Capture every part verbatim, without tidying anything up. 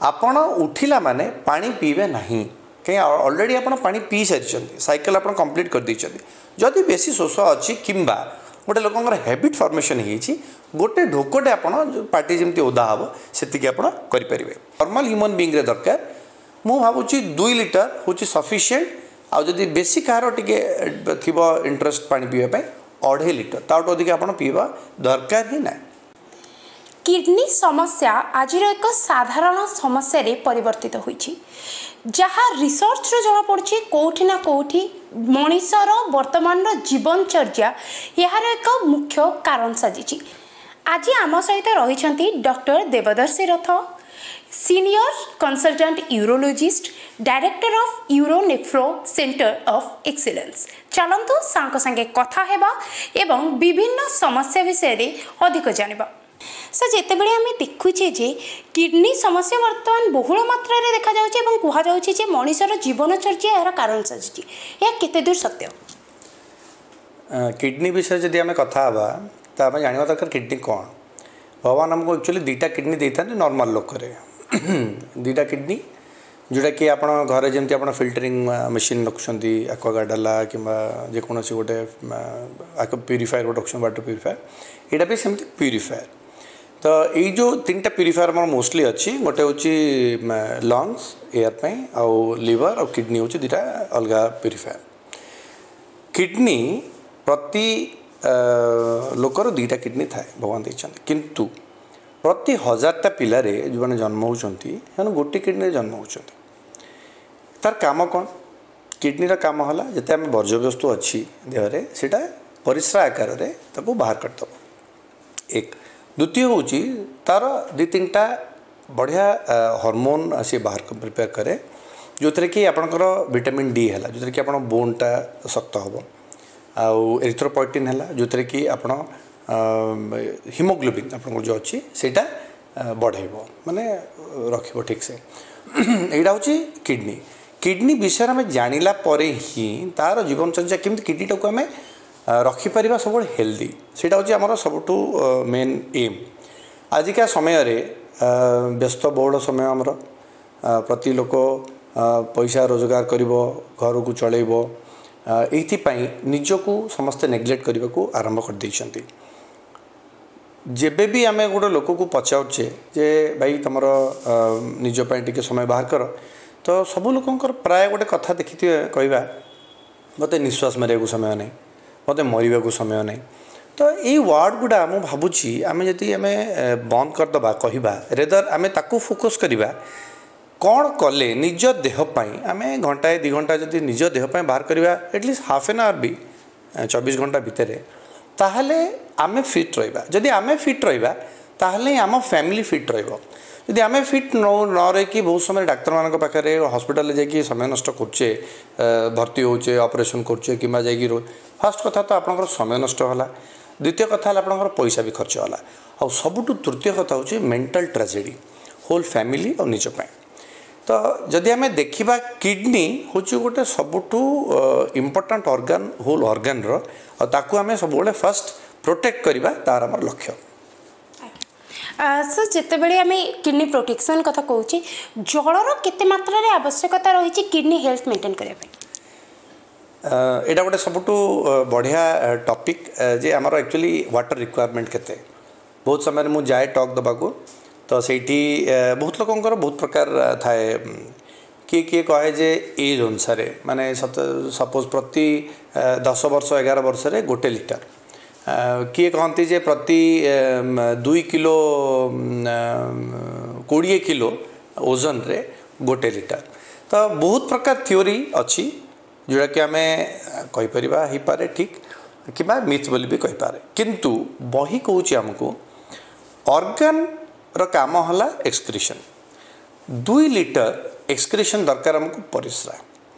ଆପଣ ଉଠିଲା ମାନେ ପାଣି ପିଇବେ ନାହିଁ କାହିଁ ଅଲରେଡ଼ି ଆପଣ ପାଣି ପିଇ ସାରିଛନ୍ତି ସାଇକେଲ ଆପଣ କମ୍ପ୍ଲିଟ୍ କରିଦେଇଛନ୍ତି ଯଦି ବେଶୀ ଶୋଷ ଅଛି କିମ୍ବା ଗୋଟେ ଲୋକଙ୍କର ହ୍ୟାବିଟ୍ ଫର୍ମେସନ୍ ହେଇଛି ଗୋଟେ ଢୋକଟେ ଆପଣ ଯୋଉ ପାଟି ଯେମିତି ଓଦା ହେବ ସେତିକି ଆପଣ କରିପାରିବେ ନର୍ମାଲ୍ ହ୍ୟୁମାନ୍ ବିଙ୍ଗରେ ଦରକାର ମୁଁ ଭାବୁଛି ଦୁଇ ଲିଟର ହେଉଛି ସଫିସିଏଣ୍ଟ ଆଉ ଯଦି ବେଶୀ କାହାର ଟିକେ ଥିବ ଇଣ୍ଟରେଷ୍ଟ ପାଣି ପିଇବା ପାଇଁ ଅଢ଼େଇ ଲିଟର ତାଠୁ ଅଧିକ ଆପଣ ପିଇବା ଦରକାର ହିଁ ନାହିଁ କିଡନୀ ସମସ୍ୟା ଆଜିର ଏକ ସାଧାରଣ ସମସ୍ୟାରେ ପରିବର୍ତ୍ତିତ ହୋଇଛି ଯାହା ରିସର୍ଚ୍ଚରୁ ଜଣାପଡ଼ୁଛି କେଉଁଠି ନା କେଉଁଠି ମଣିଷର ବର୍ତ୍ତମାନର ଜୀବନଚର୍ଯ୍ୟା ଏହାର ଏକ ମୁଖ୍ୟ କାରଣ ସାଜିଛି ଆଜି ଆମ ସହିତ ରହିଛନ୍ତି doctor Debadarshi Rath Senior Consultant Urologist Director of Uro Nephro Centre of Excellence ଚାଲନ୍ତୁ ସାର୍ଙ୍କ ସାଙ୍ଗେ କଥା ହେବା ଏବଂ ବିଭିନ୍ନ ସମସ୍ୟା ବିଷୟରେ ଅଧିକ ଜାଣିବା ସାର୍ ଯେତେବେଳେ ଆମେ ଦେଖୁଛେ ଯେ କିଡନୀ ସମସ୍ୟା ବର୍ତ୍ତମାନ ବହୁଳ ମାତ୍ରାରେ ଦେଖାଯାଉଛି ଏବଂ କୁହାଯାଉଛି ଯେ ମଣିଷର ଜୀବନଚର୍ଯ୍ୟା ଏହାର କାରଣ ସାଜିଛି ଏହା କେତେ ଦୂର ସତ୍ୟ କିଡନୀ ବିଷୟରେ ଯଦି ଆମେ କଥା ହେବା ତ ଆମେ ଜାଣିବା ଦରକାର କିଡନୀ କ'ଣ ଭଗବାନ ଆମକୁ ଆକ୍ଚୁଆଲି ଦୁଇଟା କିଡନୀ ଦେଇଥାନ୍ତି ନର୍ମାଲ ଲୋକରେ ଦୁଇଟା କିଡନୀ ଯେଉଁଟାକି ଆପଣ ଘରେ ଯେମିତି ଆପଣ ଫିଲ୍ଟରିଂ ମେସିନ୍ ରଖୁଛନ୍ତି ଆକ୍ୱାଗାର୍ଡ଼ ହେଲା କିମ୍ବା ଯେକୌଣସି ଗୋଟେ ପ୍ୟୁରିଫାୟର ଗୋଟେ ରଖୁଛନ୍ତି ୱାଟର ପ୍ୟୁରିଫାୟର ଏଇଟା ବି ସେମିତି ପ୍ୟୁରିଫାୟର ତ ଏଇ ଯେଉଁ ତିନିଟା ପ୍ୟୁରିଫାୟର ଆମର ମୋଷ୍ଟଲି ଅଛି ଗୋଟେ ହେଉଛି ଲଙ୍ଗସ୍ ଏୟାର ପାଇଁ ଆଉ ଲିଭର ଆଉ କିଡନୀ ହେଉଛି ଦୁଇଟା ଅଲଗା ପ୍ୟୁରିଫାୟର କିଡନୀ ପ୍ରତି ଲୋକର ଦୁଇଟା କିଡନୀ ଥାଏ ଭଗବାନ ଦେଇଛନ୍ତି କିନ୍ତୁ ପ୍ରତି ହଜାରଟା ପିଲାରେ ଯେଉଁମାନେ ଜନ୍ମ ହେଉଛନ୍ତି ସେମାନେ ଗୋଟେ କିଡନୀରେ ଜନ୍ମ ହେଉଛନ୍ତି ତାର କାମ କ'ଣ କିଡନୀର କାମ ହେଲା ଯେତେ ଆମେ ବର୍ଜ୍ୟବସ୍ତୁ ଅଛି ଦେହରେ ସେଇଟା ପରିସ୍ରା ଆକାରରେ ତାକୁ ବାହାର କରିଦେବ ଏକ ଦ୍ୱିତୀୟ ହେଉଛି ତାର ଦୁଇ ତିନିଟା ବଢ଼ିଆ ହରମୋନ୍ ସିଏ ବାହାର ପ୍ରିପେୟାର କରେ ଯେଉଁଥିରେ କି ଆପଣଙ୍କର ଭିଟାମିନ୍ ଡି ହେଲା ଯେଉଁଥିରେ କି ଆପଣ ବୋନ୍ଟା ଶକ୍ତ ହେବ ଆଉ ଏରିଥ୍ରୋପଏଟିନ୍ ହେଲା ଯେଉଁଥିରେ କି ଆପଣ ହିମୋଗ୍ଲୋବିନ୍ ଆପଣଙ୍କର ଯେଉଁ ଅଛି ସେଇଟା ବଢ଼େଇବ ମାନେ ରଖିବ ଠିକ୍ସେ ଏଇଟା ହେଉଛି କିଡ଼ନୀ କିଡ଼ନୀ ବିଷୟରେ ଆମେ ଜାଣିଲା ପରେ ହିଁ ତା'ର ଜୀବନଚର୍ଯ୍ୟା କେମିତି କିଡ଼ନୀଟାକୁ ଆମେ ରଖିପାରିବା ସବୁବେଳେ ହେଲ୍ଦି ସେଇଟା ହେଉଛି ଆମର ସବୁଠୁ ମେନ୍ ଏମ୍ ଆଜିକା ସମୟରେ ବ୍ୟସ୍ତବହୁଳ ସମୟ ଆମର ପ୍ରତି ଲୋକ ପଇସା ରୋଜଗାର କରିବ ଘରକୁ ଚଳେଇବ ଏଇଥିପାଇଁ ନିଜକୁ ସମସ୍ତେ ନେଗ୍ଲେକ୍ଟ କରିବାକୁ ଆରମ୍ଭ କରିଦେଇଛନ୍ତି ଯେବେ ବି ଆମେ ଗୋଟେ ଲୋକକୁ ପଚାରୁଛେ ଯେ ଭାଇ ତୁମର ନିଜ ପାଇଁ ଟିକେ ସମୟ ବାହାର କର ତ ସବୁ ଲୋକଙ୍କର ପ୍ରାୟ ଗୋଟେ କଥା ଦେଖିଥିବେ କହିବା ମୋତେ ନିଶ୍ୱାସ ମାରିବାକୁ ସମୟ ନାହିଁ ମୋତେ ମରିବାକୁ ସମୟ ନାହିଁ ତ ଏଇ ୱାର୍ଡ଼ ଗୁଡ଼ା ମୁଁ ଭାବୁଛି ଆମେ ଯଦି ଆମେ ବନ୍ଦ କରିଦେବା କହିବା ରେଦର ଆମେ ତାକୁ ଫୋକସ୍ କରିବା କ'ଣ କଲେ ନିଜ ଦେହ ପାଇଁ ଆମେ ଘଣ୍ଟାଏ ଦୁଇ ଘଣ୍ଟା ଯଦି ନିଜ ଦେହ ପାଇଁ ବାହାର କରିବା at least half N hour ବି ଚବିଶ ଘଣ୍ଟା ଭିତରେ ତାହେଲେ ଆମେ ଫିଟ୍ ରହିବା ଯଦି ଆମେ ଫିଟ୍ ରହିବା ତାହେଲେ ହିଁ ଆମ ଫ୍ୟାମିଲି ଫିଟ୍ ରହିବ ଯଦି ଆମେ ଫିଟ୍ ନ ନ ରହିକି ବହୁତ ସମୟରେ ଡାକ୍ତରମାନଙ୍କ ପାଖରେ ହସ୍ପିଟାଲରେ ଯାଇକି ସମୟ ନଷ୍ଟ କରୁଛେ ଭର୍ତ୍ତି ହେଉଛେ ଅପରେସନ୍ କରୁଛେ କିମ୍ବା ଯାଇକି ଫାର୍ଷ୍ଟ କଥା ତ ଆପଣଙ୍କର ସମୟ ନଷ୍ଟ ହେଲା ଦ୍ୱିତୀୟ କଥା ହେଲା ଆପଣଙ୍କର ପଇସା ବି ଖର୍ଚ୍ଚ ହେଲା ଆଉ ସବୁଠୁ ତୃତୀୟ କଥା ହେଉଛି ମେଣ୍ଟାଲ ଟ୍ରାଜେଡ଼ି ହୋଲ୍ ଫ୍ୟାମିଲି ଆଉ ନିଜ ପାଇଁ ତ ଯଦି ଆମେ ଦେଖିବା କିଡ଼ନୀ ହେଉଛି ଗୋଟେ ସବୁଠୁ ଇମ୍ପୋର୍ଟାଣ୍ଟ ଅର୍ଗାନ୍ ହୋଲ୍ ଅର୍ଗାନର ଆଉ ତାକୁ ଆମେ ସବୁବେଳେ ଫାର୍ଷ୍ଟ ପ୍ରୋଟେକ୍ଟ କରିବା ତାର ଆମର ଲକ୍ଷ୍ୟ ସାର୍ ଯେତେବେଳେ ଆମେ କିଡ଼ନୀ ପ୍ରୋଟେକ୍ସନ୍ କଥା କହୁଛେ ଜଳର କେତେ ମାତ୍ରାରେ ଆବଶ୍ୟକତା ରହିଛି କିଡ଼ନୀ ହେଲ୍ଥ ମେଣ୍ଟେନ୍ କରିବା ପାଇଁ ଏଇଟା ଗୋଟେ ସବୁଠୁ ବଢ଼ିଆ ଟପିକ୍ ଯେ ଆମର ଆକ୍ଚୁଆଲି ୱାଟର ରିକ୍ୱାରମେଣ୍ଟ କେତେ ବହୁତ ସମୟରେ ମୁଁ ଯାଏ ଟକ୍ ଦେବାକୁ ତ ସେଇଠି ବହୁତ ଲୋକଙ୍କର ବହୁତ ପ୍ରକାର ଥାଏ କିଏ କିଏ କହେ ଯେ ଏଜ୍ ଅନୁସାରେ ମାନେ ସପୋଜ୍ ପ୍ରତି ଦଶ ବର୍ଷ ଏଗାର ବର୍ଷରେ ଗୋଟେ ଲିଟର କିଏ କହନ୍ତି ଯେ ପ୍ରତି ଦୁଇ କିଲୋ କୋଡ଼ିଏ କିଲୋ ଓଜନରେ ଗୋଟେ ଲିଟର ତ ବହୁତ ପ୍ରକାର ଥିଓରି ଅଛି ଯେଉଁଟାକି ଆମେ କହିପାରିବା ହେଇପାରେ ଠିକ୍ କିମ୍ବା ମିଥ୍ ବୋଲି ବି କହିପାରେ କିନ୍ତୁ ବହି କହୁଛି ଆମକୁ ଅର୍ଗାନର କାମ ହେଲା ଏକ୍ସକ୍ରିସନ୍ ଦୁଇ ଲିଟର ଏକ୍ସକ୍ରିସନ୍ ଦରକାର ଆମକୁ ପରିସ୍ରା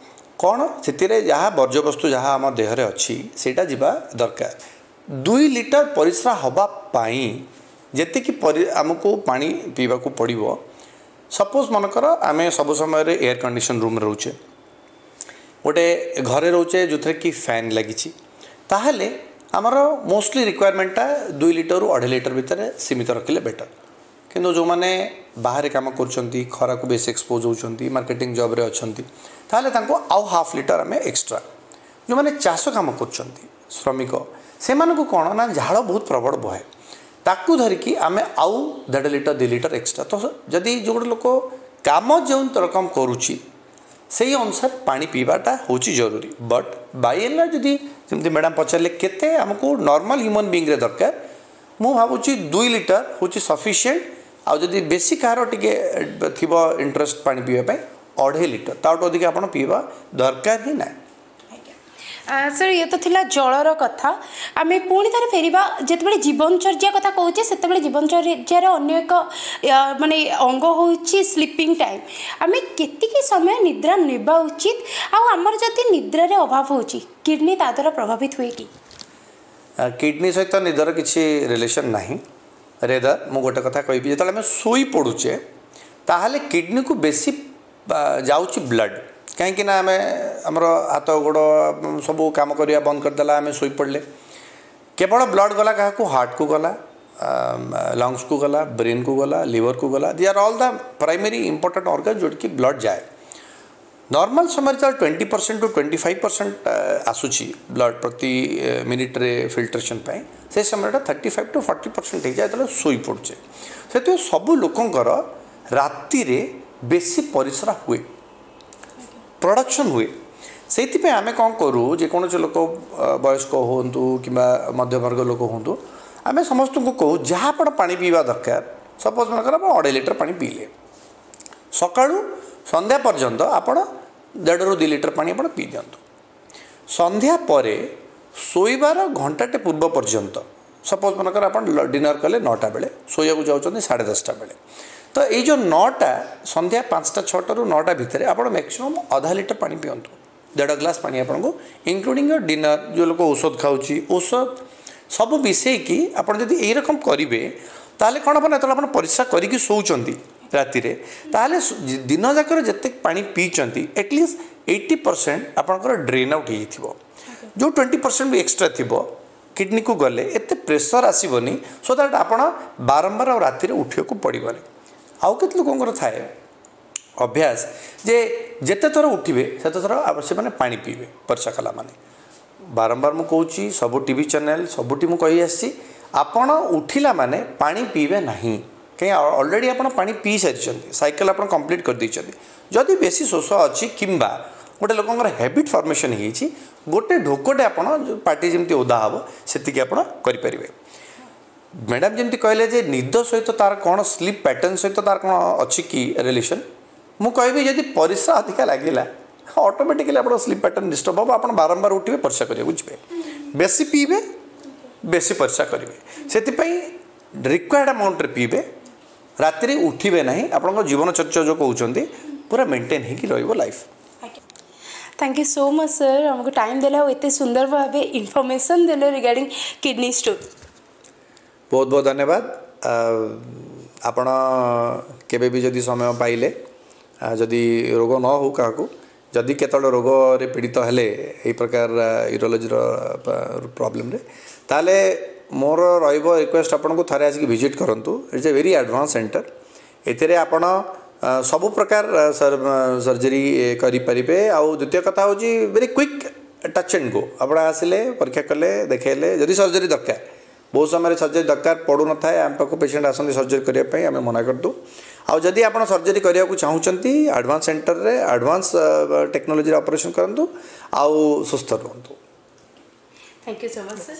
କ'ଣ ସେଥିରେ ଯାହା ବର୍ଜ୍ୟବସ୍ତୁ ଯାହା ଆମ ଦେହରେ ଅଛି ସେଇଟା ଯିବା ଦରକାର ଦୁଇ ଲିଟର ପରିସ୍ରା ହେବା ପାଇଁ ଯେତିକି ପରି ଆମକୁ ପାଣି ପିଇବାକୁ ପଡ଼ିବ ସପୋଜ୍ ମନେକର ଆମେ ସବୁ ସମୟରେ ଏୟାର କଣ୍ଡିସନ୍ ରୁମ୍ରେ ରହୁଛେ ଗୋଟେ ଘରେ ରହୁଛେ ଯେଉଁଥିରେ କି ଫ୍ୟାନ୍ ଲାଗିଛି ତାହେଲେ ଆମର ମୋଷ୍ଟଲି ରିକ୍ୱାରମେଣ୍ଟଟା ଦୁଇ ଲିଟରରୁ ଅଢ଼େଇ ଲିଟର ଭିତରେ ସୀମିତ ରଖିଲେ ବେଟର୍ କିନ୍ତୁ ଯେଉଁମାନେ ବାହାରେ କାମ କରୁଛନ୍ତି ଖରାକୁ ବେଶୀ ଏକ୍ସପୋଜ୍ ହେଉଛନ୍ତି ମାର୍କେଟିଂ ଜବ୍ରେ ଅଛନ୍ତି ତାହେଲେ ତାଙ୍କୁ ଆଉ ହାଫ୍ ଲିଟର ଆମେ ଏକ୍ସଟ୍ରା ଯେଉଁମାନେ ଚାଷ କାମ କରୁଛନ୍ତି ଶ୍ରମିକ ସେମାନଙ୍କୁ କ'ଣ ନା ଝାଳ ବହୁତ ପ୍ରବଳ ବହେ ତାକୁ ଧରିକି ଆମେ ଆଉ ଦେଢ଼ ଲିଟର ଦୁଇ ଲିଟର ଏକ୍ସଟ୍ରା ତ ଯଦି ଯେଉଁ ଗୋଟେ ଲୋକ କାମ ଯେଉଁ ରକମ କରୁଛି ସେଇ ଅନୁସାରେ ପାଣି ପିଇବାଟା ହେଉଛି ଜରୁରୀ ବଟ୍ ବାଇ ଏଣ୍ଡ ଯଦି ଯେମିତି ମ୍ୟାଡ଼ାମ୍ ପଚାରିଲେ କେତେ ଆମକୁ ନର୍ମାଲ୍ ହ୍ୟୁମାନ୍ ବିଙ୍ଗରେ ଦରକାର ମୁଁ ଭାବୁଛି ଦୁଇ ଲିଟର ହେଉଛି ସଫିସିଏଣ୍ଟ ଆଉ ଯଦି ବେଶୀ କାହାର ଟିକେ ଥିବ ଇଣ୍ଟରେଷ୍ଟ ପାଣି ପିଇବା ପାଇଁ ଅଢ଼େଇ ଲିଟର ତାଠୁ ଅଧିକ ଆପଣ ପିଇବା ଦରକାର ହିଁ ନାହିଁ ସାର୍ ଇଏ ତ ଥିଲା ଜଳର କଥା ଆମେ ପୁଣି ଥରେ ଫେରିବା ଯେତେବେଳେ ଜୀବନଚର୍ଯ୍ୟା କଥା କହୁଛେ ସେତେବେଳେ ଜୀବନଚର୍ଯ୍ୟାର ଅନ୍ୟ ଏକ ମାନେ ଅଙ୍ଗ ହେଉଛି ସ୍ଲିପିଂ ଟାଇମ୍ ଆମେ କେତିକି ସମୟ ନିଦ୍ରା ନେବା ଉଚିତ ଆଉ ଆମର ଯଦି ନିଦ୍ରାରେ ଅଭାବ ହେଉଛି କିଡ଼ନୀ ତା ଦ୍ୱାରା ପ୍ରଭାବିତ ହୁଏ କି କିଡ଼ନୀ ସହିତ ନିଦର କିଛି ରିଲେସନ୍ ନାହିଁ ରେଦର ମୁଁ ଗୋଟେ କଥା କହିବି ଯେତେବେଳେ ଆମେ ଶୋଇ ପଡ଼ୁଛେ ତାହେଲେ କିଡ଼ନୀକୁ ବେଶୀ ଯାଉଛି ବ୍ଲଡ଼ କାହିଁକି ନା ଆମେ ଆମର ହାତ ଗୋଡ଼ ସବୁ କାମ କରିବା ବନ୍ଦ କରିଦେଲା ଆମେ ଶୋଇପଡ଼ିଲେ କେବଳ ବ୍ଲଡ଼ ଗଲା କାହାକୁ ହାର୍ଟକୁ ଗଲା ଲଙ୍ଗସକୁ ଗଲା ବ୍ରେନ୍କୁ ଗଲା ଲିଭରକୁ ଗଲା they are all the primary important organ ଯେଉଁଠିକି ବ୍ଲଡ଼ ଯାଏ ନର୍ମାଲ୍ ସମୟରେ ଯେତେବେଳେ twenty percent to twenty five percent ଆସୁଛି ବ୍ଲଡ଼ ପ୍ରତି ମିନିଟ୍ରେ ଫିଲ୍ଟ୍ରେସନ୍ ପାଇଁ ସେ ସମୟଟା thirty five to forty percent ହେଇଯାଏ ଯେତେବେଳେ ଶୋଇପଡ଼ୁଛେ ସେଥିପାଇଁ ସବୁ ଲୋକଙ୍କର ରାତିରେ ବେଶୀ ପରିସ୍ରା ହୁଏ ପ୍ରଡକ୍ସନ୍ ହୁଏ ସେଇଥିପାଇଁ ଆମେ କ'ଣ କରୁ ଯେକୌଣସି ଲୋକ ବୟସ୍କ ହୁଅନ୍ତୁ କିମ୍ବା ମଧ୍ୟବର୍ଗ ଲୋକ ହୁଅନ୍ତୁ ଆମେ ସମସ୍ତଙ୍କୁ କହୁ ଯାହା ଆପଣ ପାଣି ପିଇବା ଦରକାର ସପୋଜ୍ ମନେକର ଆପଣ ଅଢ଼େଇ ଲିଟର ପାଣି ପିଇଲେ ସକାଳୁ ସନ୍ଧ୍ୟା ପର୍ଯ୍ୟନ୍ତ ଆପଣ ଦେଢ଼ରୁ ଦୁଇ ଲିଟର ପାଣି ଆପଣ ପିଇ ଦିଅନ୍ତୁ ସନ୍ଧ୍ୟା ପରେ ଶୋଇବାର ଘଣ୍ଟାଟେ ପୂର୍ବ ପର୍ଯ୍ୟନ୍ତ ସପୋଜ୍ ମନେକର ଆପଣ ଡିନର୍ କଲେ ନଅଟା ବେଳେ ଶୋଇବାକୁ ଯାଉଛନ୍ତି ସାଢ଼େ ଦଶଟା ବେଳେ ତ ଏଇ ଯେଉଁ ନଅଟା ସନ୍ଧ୍ୟା ପାଞ୍ଚଟା ଛଅଟାରୁ ନଅଟା ଭିତରେ ଆପଣ ମ୍ୟାକ୍ସିମମ୍ ଅଧା ଲିଟର ପାଣି ପିଅନ୍ତୁ ଦେଢ଼ ଗ୍ଲାସ୍ ପାଣି ଆପଣଙ୍କୁ ଇନକ୍ଲୁଡ଼ିଂ your dinner ଯେଉଁ ଲୋକ ଔଷଧ ଖାଉଛି ଔଷଧ ସବୁ ମିଶେଇକି ଆପଣ ଯଦି ଏଇରକମ କରିବେ ତାହେଲେ କ'ଣ ହେବ ନା ଯେତେବେଳେ ଆପଣ ପରିସ୍ରା କରିକି ଶୋଉଛନ୍ତି ରାତିରେ ତାହେଲେ ଦିନ ଯାକରେ ଯେତେ ପାଣି ପିଇଛନ୍ତି ଆଟଲିଷ୍ଟ ଏଇଟି ପରସେଣ୍ଟ ଆପଣଙ୍କର ଡ୍ରେନ୍ ଆଉଟ୍ ହେଇଯାଇଥିବ ଯେଉଁ ଟ୍ୱେଣ୍ଟି ପରସେଣ୍ଟ ବି ଏକ୍ସଟ୍ରା ଥିବ କିଡ଼ନୀକୁ ଗଲେ ଏତେ ପ୍ରେସର୍ ଆସିବନି ସୋ that ଆପଣ ବାରମ୍ବାର ଆଉ ରାତିରେ ଉଠିବାକୁ ପଡ଼ିବନି ଆଉ କେତେ ଲୋକଙ୍କର ଥାଏ ଅଭ୍ୟାସ ଯେ ଯେତେ ଥର ଉଠିବେ ସେତେ ଥର ସେମାନେ ପାଣି ପିଇବେ ପରିସ୍ରା କଲା ମାନେ ବାରମ୍ବାର ମୁଁ କହୁଛି ସବୁ ଟିଭି ଚ୍ୟାନେଲ୍ ସବୁଠି ମୁଁ କହି ଆସିଛି ଆପଣ ଉଠିଲା ମାନେ ପାଣି ପିଇବେ ନାହିଁ କାହିଁ ଅଲରେଡ଼ି ଆପଣ ପାଣି ପିଇ ସାରିଛନ୍ତି ସାଇକେଲ୍ ଆପଣ କମ୍ପ୍ଲିଟ୍ କରିଦେଇଛନ୍ତି ଯଦି ବେଶୀ ଶୋଷ ଅଛି କିମ୍ବା ଗୋଟେ ଲୋକଙ୍କର ହ୍ୟାବିଟ୍ ଫର୍ମେସନ୍ ହେଇଛି ଗୋଟେ ଢୋକଟେ ଆପଣ ପାଟି ଯେମିତି ଓଦା ହେବ ସେତିକି ଆପଣ କରିପାରିବେ ମ୍ୟାଡ଼ାମ୍ ଯେମିତି କହିଲେ ଯେ ନିଦ ସହିତ ତାର କ'ଣ ସ୍ଲିପ୍ ପ୍ୟାଟର୍ନ ସହିତ ତାର କ'ଣ ଅଛି କି ରିଲେସନ୍ ମୁଁ କହିବି ଯଦି ପରିସ୍ରା ଅଧିକା ଲାଗିଲା ଅଟୋମେଟିକାଲି ଆପଣଙ୍କ ସ୍ଲିପ୍ ପ୍ୟାଟର୍ନ ଡିଷ୍ଟର୍ବ ହେବ ଆପଣ ବାରମ୍ବାର ଉଠିବେ ପରିସ୍ରା କରିବାକୁ ଯିବେ ବେଶୀ ପିଇବେ ବେଶୀ ପରିସ୍ରା କରିବେ ସେଥିପାଇଁ ରିକ୍ୱାୟାର୍ଡ଼ ଆମାଉଣ୍ଟରେ ପିଇବେ ରାତିରେ ଉଠିବେ ନାହିଁ ଆପଣଙ୍କ ଜୀବନଚର୍ଯ୍ୟା ଯେଉଁ କହୁଛନ୍ତି ପୁରା ମେଣ୍ଟେନ୍ ହେଇକି ରହିବ life Thank you so much sir ଆମକୁ ଟାଇମ୍ ଦେଲେ ଆଉ ଏତେ ସୁନ୍ଦର ଭାବେ ଇନଫର୍ମେସନ୍ ଦେଲେ ରିଗାର୍ଡ଼ିଂ କିଡ଼ନୀ ଷ୍ଟୋନ୍ ବହୁତ ବହୁତ ଧନ୍ୟବାଦ ଆପଣ କେବେ ବି ଯଦି ସମୟ ପାଇଲେ ଯଦି ରୋଗ ନ ହେଉ କାହାକୁ ଯଦି କେତେବେଳେ ରୋଗରେ ପୀଡ଼ିତ ହେଲେ ଏଇ ପ୍ରକାର ୟୁରୋଲୋଜିର ପ୍ରୋବ୍ଲେମରେ ତାହେଲେ ମୋର ରହିବ ରିକ୍ୱେଷ୍ଟ ଆପଣଙ୍କୁ ଥରେ ଆସିକି ଭିଜିଟ୍ କରନ୍ତୁ It's a very advance center ଏଥିରେ ଆପଣ ସବୁ ପ୍ରକାର ସର୍ଜରୀ କରିପାରିବେ ଆଉ ଦ୍ୱିତୀୟ କଥା ହେଉଛି very quick touch and go ଆପଣ ଆସିଲେ ପରୀକ୍ଷା କଲେ ଦେଖେଇଲେ ଯଦି ସର୍ଜରୀ ଦରକାର ବହୁତ ସମୟରେ ସର୍ଜରୀ ଦରକାର ପଡ଼ୁନଥାଏ ଆମ ପାଖକୁ ପେସେଣ୍ଟ ଆସନ୍ତି ସର୍ଜରୀ କରିବା ପାଇଁ ଆମେ ମନା କରିଦେଉ ଆଉ ଯଦି ଆପଣ ସର୍ଜରୀ କରିବାକୁ ଚାହୁଁଛନ୍ତି ଆଡ଼ଭାନ୍ସ ସେଣ୍ଟରରେ ଆଡ଼ଭାନ୍ସ ଟେକ୍ନୋଲୋଜିରେ ଅପରେସନ୍ କରନ୍ତୁ ଆଉ ସୁସ୍ଥ ରୁହନ୍ତୁ Thank you so much sir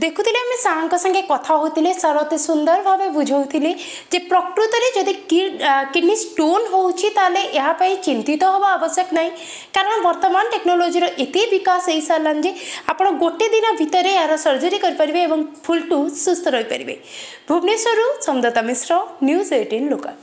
ଦେଖୁଥିଲେ ଆମେ ସାର୍ଙ୍କ ସାଙ୍ଗେ କଥା ହେଉଥିଲେ ସାର୍ ଅତି ସୁନ୍ଦର ଭାବେ ବୁଝାଉଥିଲେ ଯେ ପ୍ରକୃତରେ ଯଦି କିଡ଼ନୀ ଷ୍ଟୋନ୍ ହେଉଛି ତାହେଲେ ଏହା ପାଇଁ ଚିନ୍ତିତ ହେବା ଆବଶ୍ୟକ ନାହିଁ କାରଣ ବର୍ତ୍ତମାନ ଟେକ୍ନୋଲୋଜିର ଏତେ ବିକାଶ ହେଇସାରିଲାଣି ଯେ ଆପଣ ଗୋଟେ ଦିନ ଭିତରେ ଏହାର ସର୍ଜରୀ କରିପାରିବେ ଏବଂ ଫୁଲ୍ ଟୁ ସୁସ୍ଥ ରହିପାରିବେ ଭୁବନେଶ୍ୱରରୁ ସୋମଦତ୍ତା ମିଶ୍ର ନ୍ୟୁଜ୍ ଏଇଟିନ୍ ଲୋକାଲ୍